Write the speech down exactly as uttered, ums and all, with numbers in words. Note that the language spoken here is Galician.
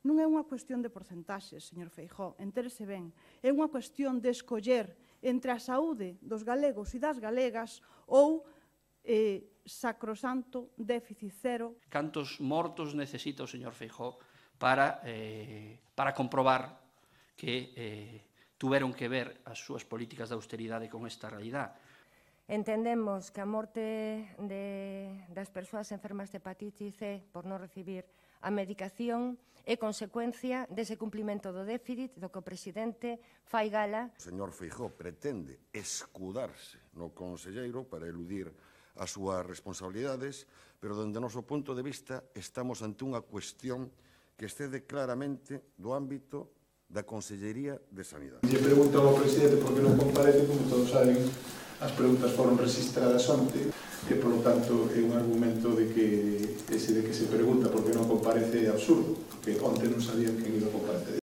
Non é unha cuestión de porcentaxes, señor Feijóo, entérese ben. É unha cuestión de escoller entre a saúde dos galegos e das galegas ou eh, sacrosanto déficit cero. Cantos mortos necesita o señor Feijóo para, eh, para comprobar que eh, tuveron que ver as súas políticas de austeridade con esta realidade? Entendemos que a morte de, das persoas enfermas de hepatite C por non recibir a medicación é consecuencia dese cumplimento do déficit do que o presidente fai gala. O señor Feijóo pretende escudarse no conselleiro para eludir as súas responsabilidades, pero dende o noso punto de vista estamos ante unha cuestión que excede claramente do ámbito da Consellería de Sanidade. Lle preguntan ao presidente por que non comparece, como todos saben, as preguntas foron registradas onte, e, polo tanto, é un argumento de que ese de que se pregunta por que non comparece é absurdo, porque onte non sabían quen iba a comparecer.